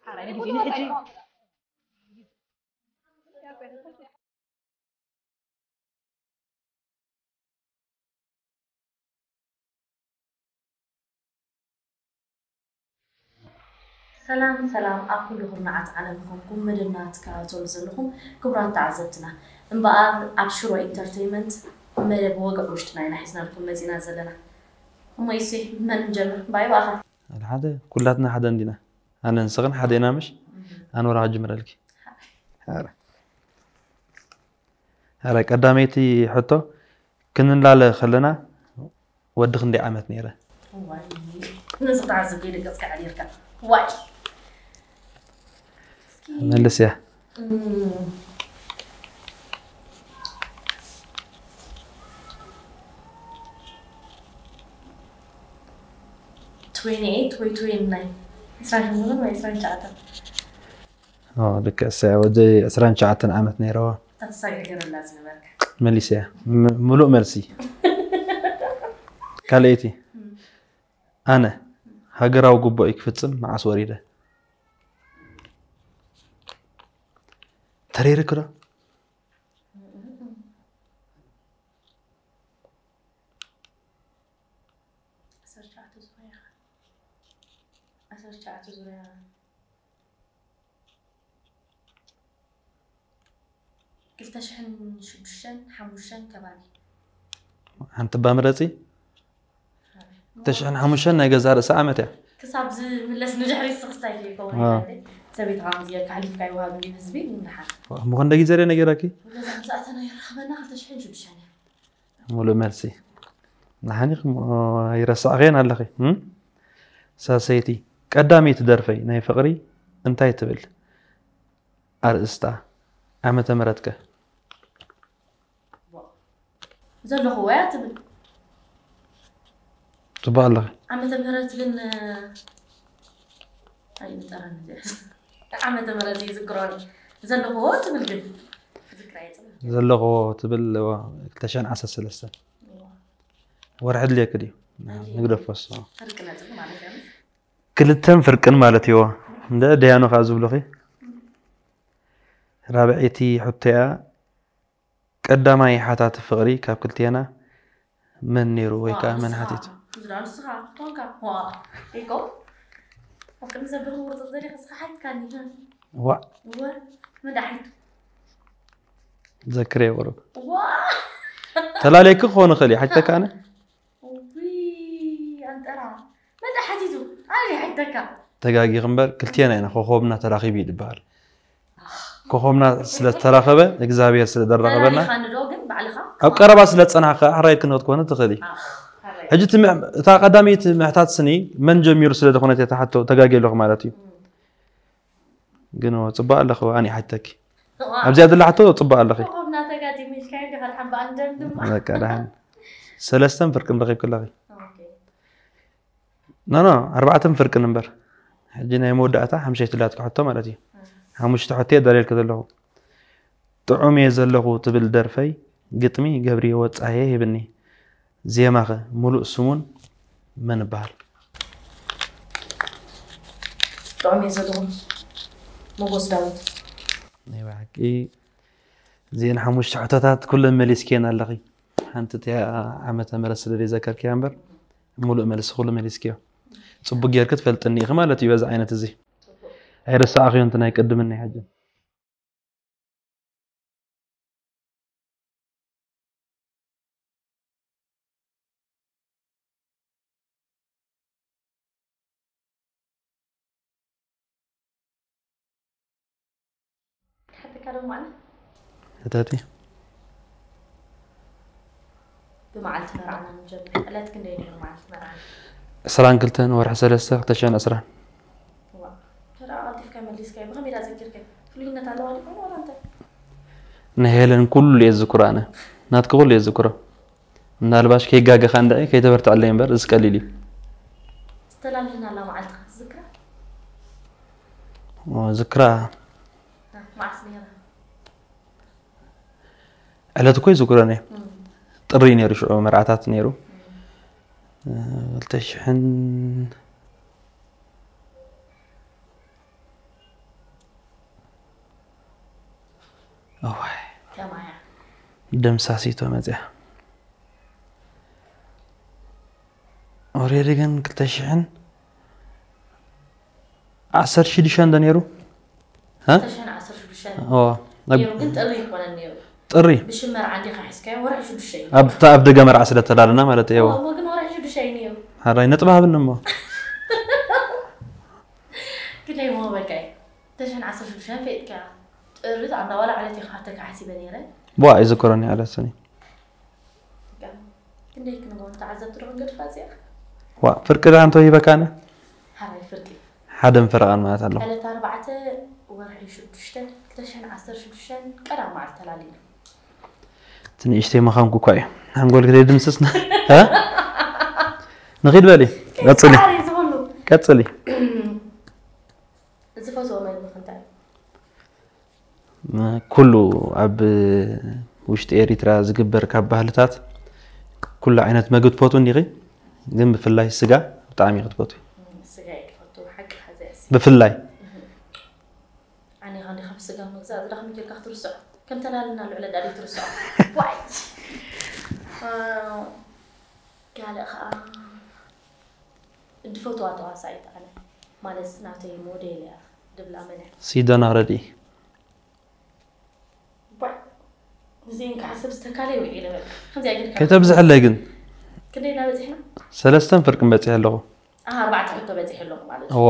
ሓራይ ነጊዲኒ ሕጂ። ሰላም ሰላም፣ ኣብ ኩሉ ኩርናዓት ዓለም ኮንኩም መደብና ትከታተሉ ዘለኹም ክቡራት ተዓዘብትና፣ እምበኣር ኣብ ሽሮ ኢንተርተይመንት መደብ ወግዒ ውሽጥና ኢና ሒዝናልኩም መፂና ዘለና። እሞ ኢሴ፣ መን ንጀምር? ባይ ባኻ። ሓደ ሓደ፣ ኩላትና ሓደ እንዲና። ኣነ ንስኽን ሓደ ኢና ምሽ? ኣነ ወላ ክጅምረልኪ። ኣረ። ኣረ፣ ቀዳመይቲ ሕቶ፣ ክንላለ ከለና ወዲ ክንደይ ዓመት ነይረ? እዋይ፣ ነዚ ክትዓዝብ ከይደቀስካ ሓዲርካ። ዋይ። እስኪ መልስ እያ። እም፣ ትዌንቲ ኤይት ወይ ትዌንቲ ናይን? ዕስራን ሸሞንተን ወይ ዕስራን ትሽዓተን? ኦ፣ ልክዕ እሳ ወዲ ዕስራን ትሽዓተን ዓመት ነይረዋ። እታ ተሳጊር ገረላ ዝነበርካ። መሊሰያ። ም-፣ ምሉእ መልሲ። ካልኣይቲ። እም። ኣነ ሃገራዊ ግቡእይ ክፍጽም መዓስ ወሪደ? ተረይርክ ዶ? ዓሰርተ ትሽዓተ ዙርያ ኢኻ። ዓሰርተ ትሽዓተ ዙርያ። ክልተ ሽሕን ሽዱሽተን ሓሙሽተን ከባቢ። ሓንቲ እባ ምረጺ። ክልተ ሽሕን ሓሙሽተን ናይ ገዛ ርእሲ ዓመት እያ። ክሳብ ዝምለስ ንድሕሪት ስኽስታይ ከይከውን ኣዎ። ይበል። ሰበይትኻ ከምዚ ጌርካ ኣሕሊፍካ ይወሃብ እንድዩ ህዝቢ፣ ንድሓር። እሞ ክንደይ ግዜ ድየ ነጊረኪ? ወለዛ ምስ ኣተና ይራኸበና ክልተ ሽሕን ሽዱሽተን እያ። ሙሉእ መልሲ። ንሓኒ ክም-፣ ኣይረሳዕኽዮን ኣለኺ። እም? ሳሰይቲ፣ ቀዳመይቲ ደርፈይ ናይ ፍቕሪ እንታይ ትብል? ኣርእስታ፣ ዓመተ ምህረትከ? ዘለኹዎ እያ ትብል። ጽቡቕ ኣለኺ። ዓመተ ምህረት ግን፣ ኣይንጠራን እዚኣ። ዓመተ ምህረት ይዝክሮ። ዘለኹዎ ትብል ግን። ዝክራ የጽብል። ዘለኹዎ ትብል፣ እዋ፣ ክልተ ሽሕን ዓሰርተ ሰለስተን። እዋ። ወርሒ ድልየኪ ድዩ? ኣድልየኒ። ንግደፎ እሱ። ፍርቂ ነጥቢ ማለት እዩ። ክልተን ፍርቅን ማለት እዩ። እንደ ደያኑ ከኣ ዝብሉኺ። ራብዐይቲ ሕቶያ፣ ቀዳማይ ሓታቲ ፍቕሪ ካብ ክልቴና መን ነይሩ ወይ ከኣ መን ሓቲቱ? ዝዳ ንስኻ ኮንካ። ዋ፣ ኢኮ። ኣብ ቅድሚ ሰብ ደኹም ቁርጽ ዘሪኽ እስኻ ሓትካኒ። ዋ። ወ፣ መን ደኣ ሓይቱ? ዘክርየ ቁሩብ። ዋ። ተላለየኪ ክኾን ይኽእል እዩ፣ ሓቲተካ ኣነ? ውይ፣ ኣንጠራ። መን ደኣ ሓቲቱ? ኣነ ሓይተካ። ተጋጊኺ እምበር፣ ክልቴና ኢና ኮኾብና ተራኺቡ እዩ ዝበሃል። ኮኾብና ስለ ዝተራኸበ፣ እግዚኣብሔር ስለ ዘራኸበና፣ ተላሊኻኒ ዶ ግን ባዕልኻ? ኣብ ቀረባ ስለ ዝጸናሕካ፣ ሕራይ ክንክትኮነ ትኽእሊ። ኣኽ፣ ሕራይ። ሕጂ እቲ ምሕ-፣ እታ ቀዳመይቲ ምሕታት ስኒ መን ጀሚሩ ስለ ዝኾነት እያ እታ ሕቶ ተጋግየ ኣለኹ ማለት እዩ። እም። ግን ጽቡቕ ኣለኺ፣ ኣነ ሓቲተኪ። ዋ። ኣብዚኣ ዘላ ሕቶ ጽቡቕ ኣለኺ። ኮኾብና ተጋጢሙ ኢልካዮ ዲኻ? ደሓን ብኣንደን ድማ። በቃ ደሓን። ሰለስተን ፍርቅን ረኺብኪ ኣለኺ። ኦኬ። ኖ፣ ኖ፣ ኣርባዕተን ፍርቅን እምበር። ሕጂ ናይ መወዳእታ ሓሙሸይቲ ላትኪ ሕቶ ማለት እዩ። እም። ሓሙሽተ ሕቶ እየ ደልየልኪ ዘለኹ። ጥዑም እየ ዘለኹ ትብል ደርፈይ ግጥሚ ገብርየ ወጻየ ሂብኒ። ዜማኸ ምሉእ ስሙን መን ይበሃል? ጥዑም እየ ዘለኹ። ሞጎስ ዳዊት። ናይ ብሓቂ እዚአን ሓሙሽተ ሕቶታት ኩለን መሊስክየን ኣለኺ። ሓንቲ እቲኣ ዓመተ ምህረት ስለ ዘይዘከርክያ እምበር፣ ምሉእ መልሲ ኩሉ መሊስክዮ። ጽቡቅ ጌርኪ ትፈልጥኒ ኢኺ ማለት እዩ በዚ ዓይነት እዚ። ኣይረሳዕኽዮን እቲ ናይ ቅድም ናይ ሕጂ። ሕትካ ዶ ማለት? ሕተቲ። ብመዓልቲ መርዓና ንጀምር። ዕለት ክንደይ ነይሩ መዓልቲ መርዓና? ዕስራን ክልተን ወርሒ ሰለስተ ክልተ ሽሕን ዕስራን። ዋ፣ ተራ ቀልጢፍካ መሊስካዮ። ብኸመይ ዳ ዘኪርከ? ፍሉይነት ኣለዋ ዲኾን ዋላ እንታይ? ናይ ሄለን ኩሉ እየ ዝዝክሮ ኣነ። ናትኪ ኩሉ እየ ዝዝክሮ። ምናልባሽ ከይጋገኻ እንድዒ ከይተበርትዐለይ እምበር፣ እዚ ቀሊል እዩ። ዝተላለናላ መዓልቲ ከ ትዝክራ? ኦ፣ ዝክራ። እ፣ መዓስ ነይራ? ዕለት እኮ ይዝክሮን እየ። እም። ጥሪ ነይሩ ሽዑ መርዓታት ነይሩ። እም። እ፣ ክልተ ሽሕን፣ እዋይ ከማያ ደምሳሲቶ መፅያ። ኦሬዲ ግን ክልተ ሽሕን ዓሰርተ ሽዱሽተ እንደ ነይሩ። እ? ተሸን ዓሰርተ ሽዱሽተ ኦ፣ ኣብ ነይሩ፣ ግን ጥሪ ይኮነን ነይሩ። ጥሪ ብሽመር ዓንዲኻ ሒዝካዮ ወርሒ ሽዱሽተ እዩ። ኣብታ ኣብ ደገ መርዓ ስለ ተዳለና ማለት እዩ። እሞ ግን ወርሒ ሽዱሽተ እዩ ነይሩ። ሓራይ ነጥቢ ሃብኒ እሞ ግደይ ሞ በቃ እዩ። ተሸን ዓሰርተ ሽዱሽተ ፈይጥካ ጥሪ ኣንዳ ዋላ ዕለት ይኸሓተካ ሓሲበ ነይረ። ዋ ይዝክረኒ ኣለስኒ ክንደይ ክንጎን ተዓዘብቲ ዶ ክንገድፋ እዚኣ? ዋ ፍርቂ ዳ እንቶ ይበካነ ሓራይ ፍርቂ ሓደን ፈረቓን ማለት ኣለኹ። ዕለት ኣርባዕተ ወርሒ ሽዱሽተ ክልተ ሽሕን ዓሰርተ ሽዱሽተን ቀዳም መዓልቲ ተላሊና። እቲ ንእሽተይ መኻንኩ እኳ እዩ። ሓንጎል ክደይ ድምስስና እ? ንኺድ በሊ ቀፅሊ ፃዕሪ ዝብሉ ቀፅሊ። ዝፈትዎ መግቢ ክንታይ? ኩሉ ኣብ ውሽጢ ኤሪትራ ዝግበር ካብ ባህልታት ኩሉ ዓይነት መግቢ ትፈትው እንዲኺ? ግን ብፍላይ ስጋ ብጣዕሚ ክትፈትው? ስጋ እየ ዝፈቱ ሓቂ ሓዘ ብፍላይ ኣነ ኸንዲ ካብ ስጋ ምግዛእ ዝዳኽሚ ጌርካ ክትርስዖ ከም ተላልና ልዕለ ዳዲ ትርስዖ ዋይ ካልእ ከዓ ድፈትዋ ተዋሳኢት ኣነ ማለት ናተይ ሞዴል እያ ድብላ መን እያ ሲደና ረዲ እዚን ከዓ ሰብ ዝተካለ ይውዒለ በቃ ከምዚኣ ጌርካ ከይተብዝሐለይ ግን ክንደይ እናበፂሕና ሰለስተን ፍርቅን በፂሐ ኣለኹ። ኣርባዕተ ሕቶ በፂሐ ኣለኹ ማለት እዩ እወ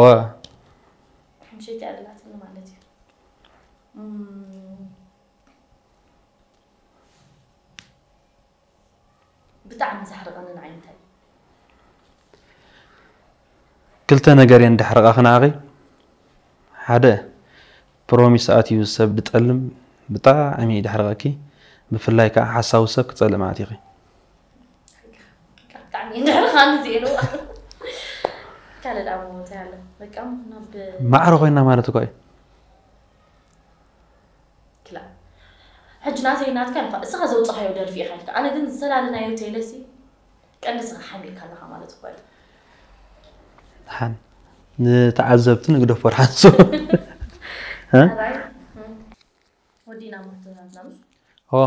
ሓምሸይቲ ኣለላትኒ ማለት እዩ እም፣ ብጣዕሚ ዘሕርቐኒ ንዓይ እንታይ እዩ? ክልተ ነገር እየን ዳሕረቓኺ ንዓኺ። ሓደ ፕሮሚስ ኣትዩ ሰብ ድጠልም ብጣዕሚ እዩ ዳሕረቐኪ። ብፍላይ ከዓ ሓሳዊ ሰብ ክፀልም ኣትይኺ። ብጣዕሚ እዩ ዘሕርቐኒ እዚኤ ነው ካልእ ዳሞ እንታይ ኣሎ በቃ ናብ ማዕረ ኮይና ማለት እኳ እዩ። ክላ ሕጂ ናተይ ናትካ ንፋ እስኻ ዘውፅኻዮ ደርፊ ኢኻ ኢልካ ኣነ ግን ዝተላለናዮ ቴለሲ ቀንዲ ስኻ ሓሚልካ ኣለኻ ማለት እኮ እዩ ሓን ንተዓዘብቲ ንግደፎ ሓንሱ ወዲና ማህቶታትና ምስ ኦ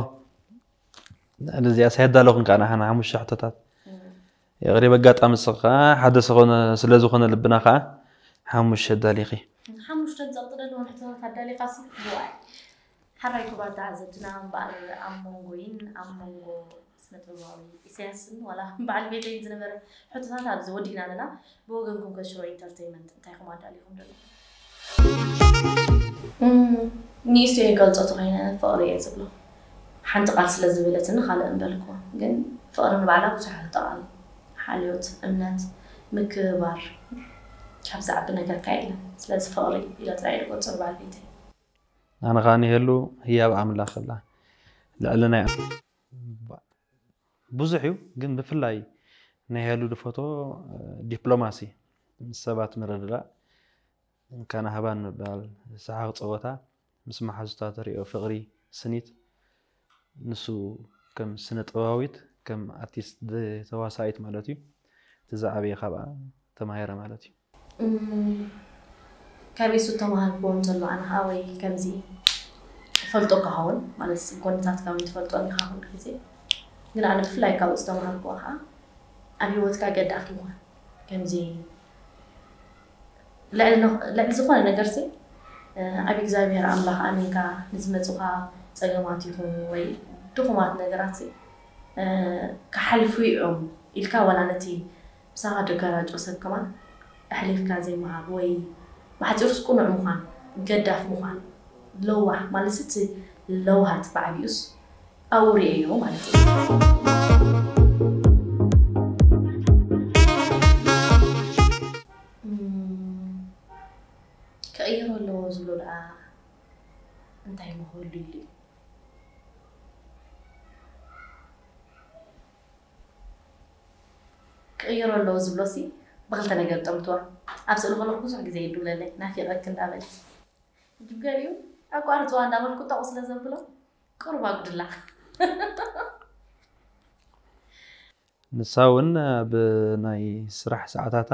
እዚኣ ሳይዳ ኣለኹን ከዓ ንሓና ሓሙሽተ ሕቶታት የቕሪብ ኣጋጣሚ ስኻ ሓደ ዝኾነ ስለ ዝኾነ ልብና ከዓ ሓሙሽተ ኣዳሊኺ ሓሙሽተ ዝፀቕጥለለዎም ሕቶታት ኣዳሊኻሲ ዋይ ሓራይ ክቡራት ተዓዘብትና እምበኣር ኣብ መንጎይን ኣብ መንጎ ስነ ጥበባዊ ኢሳያስን ዋላ በዓል ቤተይን ዝነበረ ሕቶታት ኣብዚ ወዲእና ኣለና ብወገንኩም ከሽሮ ኢንተርቴይመንት እንታይ ኹም ኣዳሊኹም ደሎ ንእሽቶ የገልፆ ተኮይነ ፍቕሪ እየ ዝብሎ ሓንቲ ቃል ስለ ዝበለትኒ ካልእ እምበልኩ ግን ፍቕሪ ንባዕላ ብዙሕ ተቃል ሓልዮት እምነት ምክብባር ካብ ዝዓቢ ነገርካ የለን ስለዚ ፍቕሪ ኢለ ጥራይ ዝገልፆ ንባዕል ቤተይ ኣነ ከዓ ንሄሉ ህያብ ኣምላኽ ኣላ ልዕሊ ናይ ብዙሕ እዩ ግን ብፍላይ ናይ ሄሉ ድፈቶ ዲፕሎማሲ ምስ ሰባት ምርድዳእ እንካና ሃባን ምባል ሰሓቕ ፀወታ ምስ መሓዙታ ተሪኦ ፍቕሪ ስኒት ንሱ ከም ስነ ጥበባዊት ከም ኣርቲስት ተዋሳኢት ማለት እዩ እቲ ዝዓበየ ካብኣ ተማሂረ ማለት እዩ ካበይ ሱ ተማሃርክዎ እንተሎ ኣነ ከዓ ወይ ከምዚ ፈልጦ ክኸውን ማለት ጎነታትካ እውን ትፈልጦ ኢኻ ኩሉ ግዜ ግን ኣነ ብፍላይ ካብኡ ዝተማሃርክዎ ከዓ ኣብ ሂወትካ ገዳፍ ምዃን ከምዚ ልዕሊ ዝኾነ ነገር ሲ ኣብ እግዚኣብሔር ኣምላኽ ኣሚንካ ንዝመፁኻ ፀገማት ይኹን ወይ ድኹማት ነገራት ሲ ክሓልፉ እዮም ኢልካ ዋላ ነቲ ምሳኻ ደጋራጮ ሰብ ከማን ኣሕሊፍካ ዘይምሃብ ወይ ብሓፂሩስ ቁኑዕ ምዃን ገዳፍ ምዃን ለዋህ ማለት እቲ ለውሃት ብዓብዩስ ኣብኡ ርእየዮ ማለት እዩ ክቕየሮ ኣለዎ ዝብሎ ደኣ እንታይ መክበሉ ኢሉ እዩ ክቕየሮ ኣለዎ ዝብሎ ሲ ብክልተ ነገር ጠምትዋ ኣብ ስእሊ ከለኩ ብዙሕ ግዜ ይድውለለይ ናፊቐክ እንዳበለ ጅገሪኡ ኣቋርፅዋ እንዳበልኩ ጠቑ ስለ ዘብሎ ቁሩብ ኣጉድላ ንሳ እውን ኣብ ናይ ስራሕ ሰዓታታ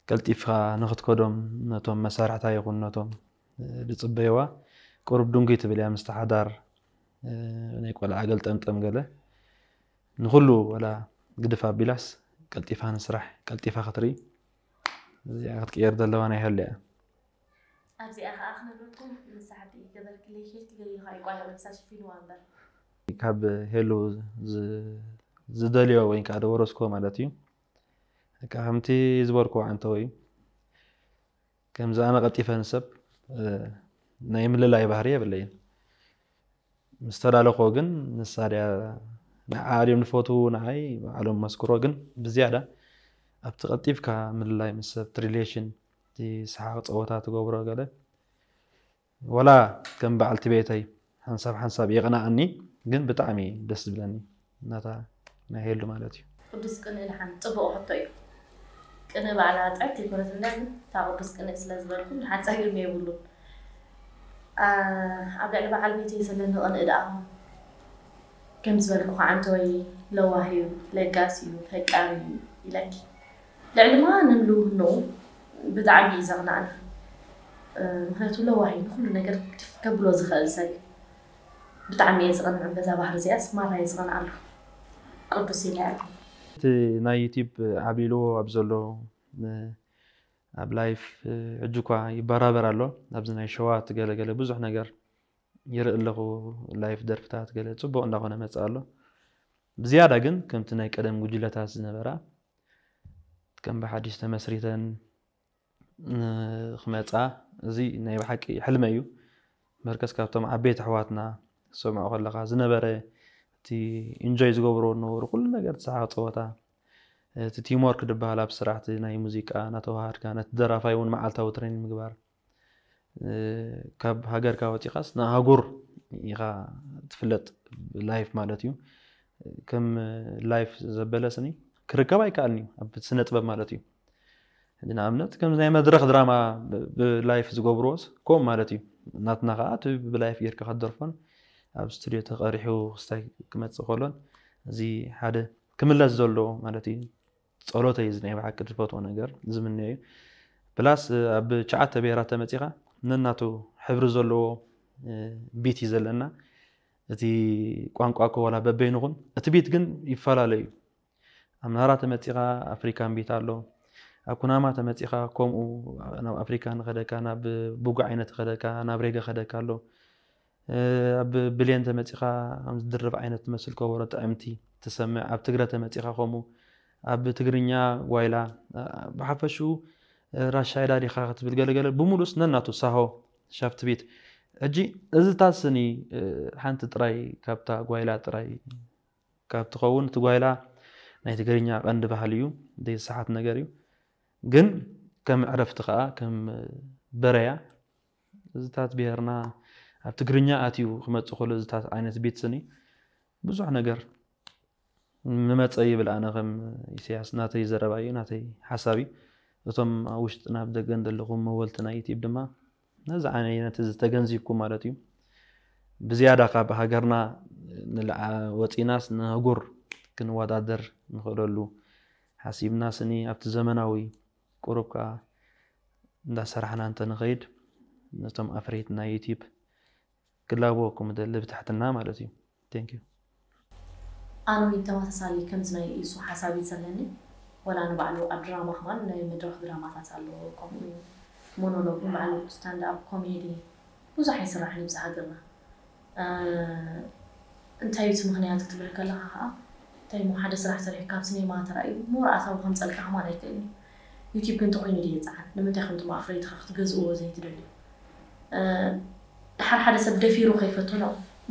ቀልጢፍካ ንክትከዶም ነቶም መሳርሕታ ይኹን ነቶም ዝፅበይዋ ቁሩብ ድንጉይ ትብል እያ ምስቲ ሓዳር። ናይ ቆልዓ ገልጠምጠም ገለ ንኹሉ ወላ ግድፍ ኣቢላስ ቀልጢፋ ንስራሕ ቀልጢፋ ክትርኢ እዚኣ ክትቅየር ዘለዋ ናይ ሄሉ እያ። ኣብዚኣ ከዓ ክነግረኩም ንሳ ሓንቲ ገበርክለይ ኬፍ ትገሊልካ እዩ ቋያ ወይሳ ሽፊንዋ እምበር ካብ ሄሉ ዝደልዮ ወይ ከዓ ደወረስኮ ማለት እዩ። ከምቲ ዝበርኮ ዓንተወ እዩ። ከምዚ ኣነ ቀልጢፈ ንሰብ ናይ ምልላይ ባህሪ የብለይን። ምስ ተላለኾ ግን ንሳ ድያ ንዓ ድዮም ንፈትዉ ንዓይ ባዕሎም መስክሮ ግን ብዝያዳ ኣብቲ ቀልጢፍካ ምልላይ ምስ ሰብ ሪሌሽን እቲ ሰሓቕ ፀወታ ትገብሮ ገለ ወላ ከም በዓልቲ ቤተይ ሓንሳብ ሓንሳብ የቕንኣኒ ግን ብጣዕሚ ደስ ዝብለኒ ናታ ናይ ሄሉ ማለት እዩ። ቅዱስ ቅንኢ ደሓን ፅቡቕ ሕቶ እዩ። ቅንኢ ባዕላ ጥዕምቲ ኣይኮነትን እያ ግን እታ ቅዱስ ቅንኢ ስለ ዝበልኩም ደሓን ፀገም የብሉን። ኣብ ልዕሊ በዓል ቤተይ ዘለኒ ቅንኢ ደኣ ከም ዝበልኩ ከዓ እንተወይ ለዋህ እዩ፣ ለጋስ እዩ፣ ፈቃሪ እዩ ኢለኪ። ልዕሊ ማንም ልውህንኡ ብጣዕሚ እዩ ዘቕንኣኒ። ምክንያቱ ለዋህ እዩ፣ ንኩሉ ነገር ግድፍ ከብሎ ዝኽእል ሰብ እዩ። ብጣዕሚ እየ ዝቐንዕ በዛ ባህሪ እዚኣስ፣ ማራ እየ ዝቐንኣሉ። ቅዱስ ኢለ እየ። እቲ ናይ ዩቲብ ዓብሊልዎ ኣብ ዘሎ ኣብ ላይፍ ሕጂ እኳ ይበራበር ኣሎ። ኣብዚ ናይ ሸዋ ትገለገለ ብዙሕ ነገር ይርኢ ኣለኹ። ላይፍ ደርፍታት ገለ ፅቡቕ እንዳኾነ መፅእ ኣሎ። ብዝያዳ ግን ከምቲ ናይ ቀደም ጉጅለታት ዝነበራ ከም ብሓድሽ ተመስሪተን ክመፃ እዚ ናይ ብሓቂ ሕልመ እዩ። መርከስ ካብቶም ዓበይቲ ኣሕዋትና ሰምዖ ከለካ ዝነበረ እቲ ኢንጆይ ዝገብሮ ነበሩ ኩሉ ነገር ተሰሓ ፀወታ እቲ ቲምወርክ ዝበሃል ኣብ ስራሕ እቲ ናይ ሙዚቃ እናተዋሃድካ ነቲ ደራፋይ እውን መዓልታዊ ትሬኒንግ ምግባር ካብ ሃገርካ ወፂኻስ ንኣህጉር ኢኻ ትፍለጥ ላይፍ ማለት እዩ። ከም ላይፍ ዘበለ ስኒ ክርከብ ኣይከኣልን እዩ ኣብ ስነ ጥበብ ማለት እዩ። ንኣብነት ከም ናይ መድረኽ ድራማ ብላይፍ ዝገብርዎስ ከምኡ ማለት እዩ። ናትና ከዓ እቲ ብላይፍ ጌርካ ክትደርፎን ኣብ ስቱድዮ ተቐሪሑ ክስታይ ክመፅእ ከሎን እዚ ሓደ ክምለስ ዘለዎ ማለት እዩ። ፀሎተይ እዚ ናይ ብሓቂ ዝፈትዎ ነገር ዝምነዮ እዩ። ፕላስ ኣብ ትሽዓተ ብሄራት ተመፂኻ ነናቱ ሕብሪ ዘለዎ ቢት እዩ ዘለና። እቲ ቋንቋ እኮ ዋላ በበይኑ ኹን እቲ ቢት ግን ይፈላለ እዩ። ኣብ ናራ ተመፂኻ ኣፍሪካን ቢት ኣሎ። ኣብ ኩናማ ተመፂኻ ከምኡ ናብ ኣፍሪካ ንኸደካ ናብ ቡጉ ዓይነት ኸደካ ናብ ሬገ ኸደካ ኣሎ። ኣብ ብሌን ተመፂኻ ከም ዝድርብ ዓይነት ትመስል ከበሮ ጥዕምቲ ትሰምዕ። ኣብ ትግረ ተመፂኻ ከምኡ ኣብ ትግርኛ ጓይላ ብሓፈሽኡ ራሻይዳ ዲኻ ክትብል ገለገለ ብምሉስ ነናቱ ሳሆ ሻፍት ቢት። ሕጂ እዚታት ስኒ ሓንቲ ጥራይ ካብታ ጓይላ ጥራይ ካብ ትኸውን እቲ ጓይላ ናይ ትግርኛ ቀንዲ ባህሊ እዩ። ዘይሰሓት ነገር እዩ። ግን ከም ዕረፍቲ ከዓ ከም በረያ እዚታት ብሄርና ኣብ ትግርኛ ኣትዩ ክመፅእ ከሎ እዚታት ዓይነት ቢት ስኒ ብዙሕ ነገር ምመፀ ይብል። ኣነ ከም ኢሳያስ ናተይ ዘረባ እዩ፣ ናተይ ሓሳብ እዩ። እቶም ኣብ ውሽጥን ኣብ ደገን ዘለኹም መወልቲ ናይ ዩቲብ ድማ ነዚ ዓይነት እዚ ተገንዚብኩም ማለት እዩ። ብዝያዳ ካብ ሃገርና ንልዓ ወፂናስ ንኣህጉር ክንወዳደር ንኽእለሉ ሓሲብና ስኒ ኣብቲ ዘመናዊ ቁሩብ ከዓ እንዳሰራሕና እንተንኸይድ ነቶም ኣፍረይቲ ናይ ዩቲብ ክላበወኩም እደሊ ብትሕትና ማለት እዩ። Thank you። ኣነ እውን ተመሳሳሊ ከምዚ ናይ ኢሱ ሓሳብ እዩ ዘለኒ። ወላ ንባዕሉ ኣብ ድራማ ከማን ናይ መድረኽ ድራማታት ኣለዎ፣ ከምኡ እዩ ሞኖሎግ ንባዕሉ ስታንድ ኣፕ ኮሜዲ ብዙሕ ኣይስራሕን እዩ ብዚ ሃገርና። እንታይ እዩ እቲ ምኽንያት ክትብል ከለኻ ከዓ እንታይ እሞ ሓደ ስራሕ ሰሪሕካ ኣብ ሲኔማ ተራእዩ ሞር ኣታዊ ከምፀልካ ከማን ኣይክእልን እዩ። ዩቲብ ግን ተኮይኑ ድየ ይፅዓን? ንምንታይ ከምቶም ኣፍረይትኻ ክትገዝእዎ ዘይትደልዩ? ድሓር ሓደ ሰብ ደፊሩ ከይፈትኖ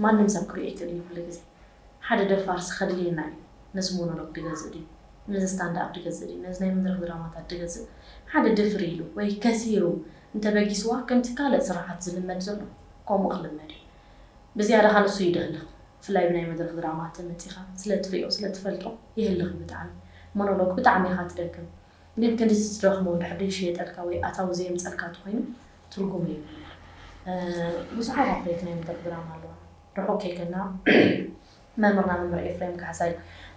ማንም ሰብ ክሪኦ ይክእል እዩ ኩሉ ግዜ ሓደ ደፋር ሲ ከድልየና እዩ ነዚ ሞኖሎግ ድገዝእ ድዩ ነዚ ስታንድ ኣፕ ድገዝእ ድዩ ነዚ ናይ መድረክ ድራማታት ድገዝእ ሓደ ድፍር ኢሉ ወይ ከሲሩ እንተበጊስዋ ከምቲ ካልእ ስራሓት ዝልመድ ዘሎ ከምኡ ክልመድ እዩ ብዝያዳ ከ ንሱ እዩ ድህልኽ ብፍላይ ብናይ መድረክ ድራማ ተመፂኻ ስለ ትሪኦ ስለ ትፈልጦ ይህልኽ እዩ ብጣዕሚ ሞኖሎግ ብጣዕሚ ኢኻ ትደክም ግን ክንድዚ ትደኽሞ እንድሕር ዘይሽየጠልካ ወይ ኣታዊ ዘየምፀልካ ተኾይኑ ትርጉም የብሉን። ብዙሓት ኣፍረይቲ ናይ መድረኽ ድራማ ኣለዋ። ርሑቕ ከይከድና መምህርና መምህር ኤፍሬም ካሕሳይ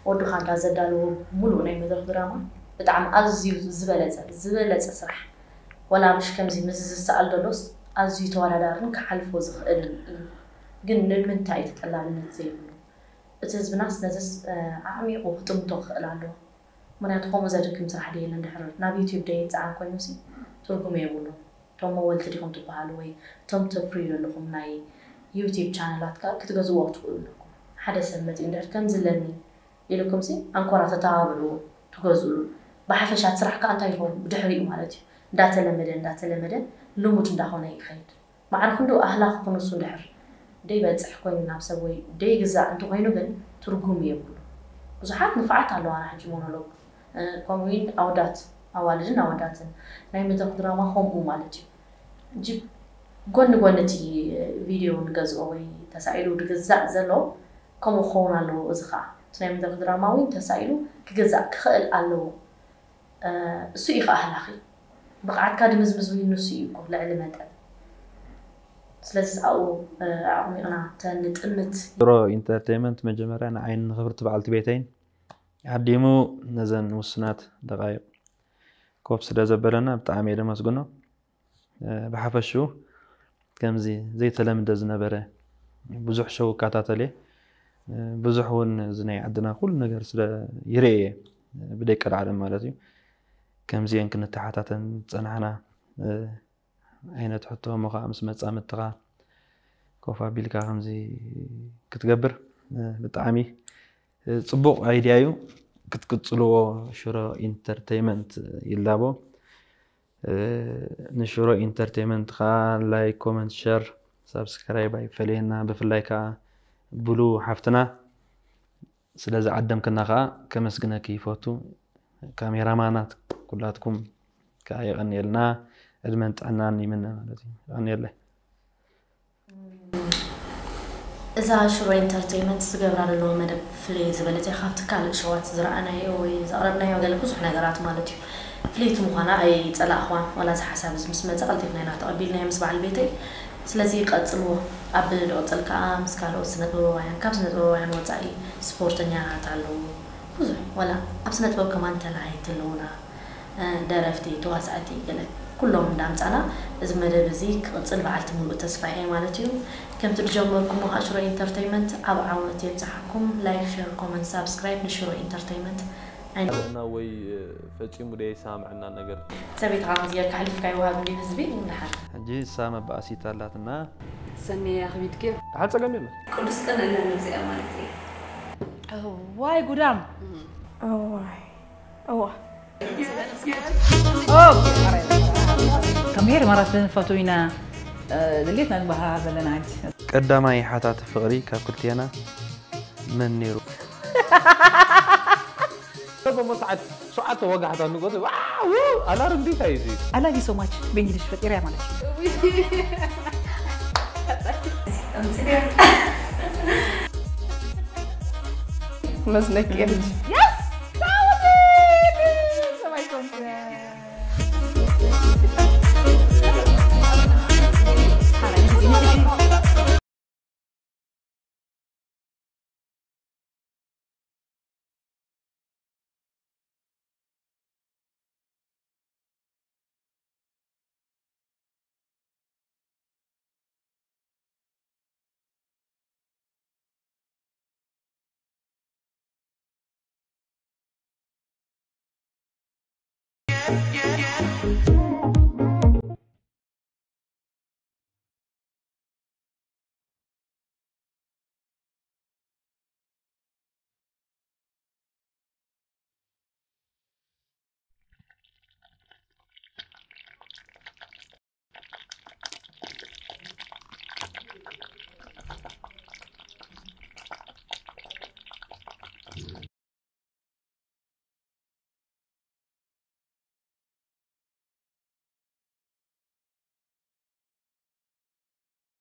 ወዱ ካንዳ ዘዳለዎ ሙሉእ ናይ መድረኽ ድራማ ብጣዕሚ ኣዝዩ ዝበለፀ ዝበለፀ ስራሕ ወላ ምሽ ከምዚ ምዚ ዝሰኣል ዘሎስ ኣዝዩ ተወዳዳርን ክሓልፎ ዝኽእልን እዩ። ግን ንምንታይ እዩ ተጠላብነት ዘይብሉ? እቲ ህዝብናስ ነዝስ ኣዕሚቑ ክጥምቶ ክኽእል ኣለዎ። ምኽንያቱ ከምኡ ዘድክም ስራሕ ድየለ እንድሕር ናብ ዩቲብ ደይፀዓን ኮይኑሲ ትርጉም የብሉን። እቶም መወልቲ ዲኹም ትበሃሉ ወይ እቶም ተፍርዩ ዘለኹም ናይ ዩቲብ ቻነላት ከዓ ክትገዝዎ ክትኽእሉ ኣለኩም። ሓደ ሰብ መፂኡ እንድሕር ከምዚ ኣለኒ ኢልኩምሲ ኣንኮራ ተተባብዕዎ ትገዝእሉ። ብሓፈሻ እቲ ስራሕ ከዓ እንታይ ይኸውን ብድሕሪኡ ማለት እዩ እንዳተለመደ እንዳተለመደ ልሙድ እንዳኾነ ይኸይድ። ማዕረ ክንዱ ኣህላኺ ክንሱ እንድሕር ደይበፅሕ ኮይኑ ናብ ሰብ ወይ ደይግዛእ እንተኾይኑ ግን ትርጉም የብሉ። ብዙሓት ንፍዓት ኣለዋና ሕጂ ሞኖሎግ ከምኡውን ኣወዳት ኣዋልድን ኣወዳትን ናይ መድረክ ድራማ ከምኡ ማለት እዩ። ጅብ ጎኒ ጎኒ እቲ ቪድዮ ንገዝኦ ወይ ተሳኢሉ ድግዛእ ዘሎ ከምኡ ክኸውን ኣለዎ። እዚ ከዓ እቲ ናይ መድረክ ድራማ እውን ተሳኢሉ ክግዛእ ክኽእል ኣለዎ። እሱ እዩ ከዓ ኣህላኺ ብቕዓትካ ድምዝምዝ ወይ ንሱ እዩ እኮ ልዕሊ መጠን። ስለዚ ኣብኡ ኣዕሚቕና ተንጥምት። ሮ ኢንተርቴንመንት መጀመርያ ንዓይን ንኽብርቲ በዓልቲ ቤተይን ዓዲሙ ነዘን ውስናት ደቃይቕ ኮፍ ስለ ዘበለና ብጣዕሚ እየ ደመስግኖ። ብሓፈሽኡ ከምዚ ዘይተለምደ ዝነበረ ብዙሕ ሸው እከታተል እየ። ብዙሕ እውን እዚ ናይ ዓድና ኩሉ ነገር ስለ ይርኤ እየ ብደቂ ዓለም ማለት እዩ። ከምዚአን ክንተሓታተን ዝፀናሕና ዓይነት ሕቶ እሞ ከዓ ምስ መፃምድትኻ ኮፍ ኣቢልካ ከምዚ ክትገብር ብጣዕሚ ፅቡቕ ኣይድያ እዩ። ክትቅፅልዎ ሽሮ ኢንተርቴይመንት ይላቦ። ንሽሮ ኢንተርቴይመንት ከዓ ላይክ፣ ኮመንት፣ ሸር፣ ሳብስክራይብ ኣይፈለየና። ብፍላይ ከዓ ብሉ ሓፍትና ስለዚ ዓደምክና ከዓ ከመስግነኪ ይፈቱ። ካሜራማናት ኩላትኩም ከዓ የቐንየልና፣ ዕድመን ጥዕናን ይምነ ማለት እዩ። የቐንየለይ። እዛ ሽሮ ኢንተርቴይመንት ዝገብራ ዘለዎ መደብ ፍልይ ዝበለት እያ ካብቲ ካልእ ሸዋት ዝረኣናዮ ወይ ዘቕረብናዮ ገለ ብዙሕ ነገራት ማለት እዩ። ፍልይቲ ምዃና ኣይጸላእኽዋን። ዋላ እዚ ሓሳብ እዚ ምስ መጸ ቀልጢፍና ኢና ተቐቢልናዮ ምስ በዓል ቤተይ። ስለዚ ቀጽልዎ። ኣብ ድቕጽል ከኣ ምስ ካልኦት ስነ ጥበባውያን ካብ ስነ ጥበባውያን ወጻኢ ስፖርተኛታት ኣለዉ። ብዙሕ ዋላ ኣብ ስነ ጥበብ ከማን ተላሃይቲ ኣለዉና። ደረፍቲ፣ ተዋሳእቲ ገለ ኩሎም እንዳምጻና እዚ መደብ እዚ ክቕጽል በዓልቲ ሙሉእ ተስፋ እየ ማለት እዩ። ከምቲ ዝጀመርኩሞ ከዓ ሽሮ ኢንተርተይመንት ኣብ ዓወት የብጽሓኩም። ላይክ፣ ሸር፣ ኮመንት፣ ሳብስክራይብ ንሽሮ ኢንተርተይመንት። እና ወይ ፈጺሙ ደይ ሳምዕና ነገር ሰበይትኻ ከምዚ ጌርካ ኣሕሊፍካ ይወሃብ እንዲ ህዝቢ ንድሓር። ሕጂ እሳ መባእሲት ኣላትና። ሰኒ ኣኽቢድክዮ። ሓጸገም የለ ቅዱስ ቀን ኣለና እዚኣ ማለት እዩ። ዋይ ጉዳም እዋይ እዋ ከመይ ማራት ፈትዊና ድሌትና ንባሃ ዘለና ሕጂ ቀዳማይ ሓታቲ ፍቕሪ ካብ ክልቴና መን ነይሩ? ሰዓት ሸውዓተ ወጋሕታ ንጎት ኣላርም ዲታ እዩ I love you so much ብእንግሊሽ ፈጢረያ ማለት እዩ መስለኪ ልጅ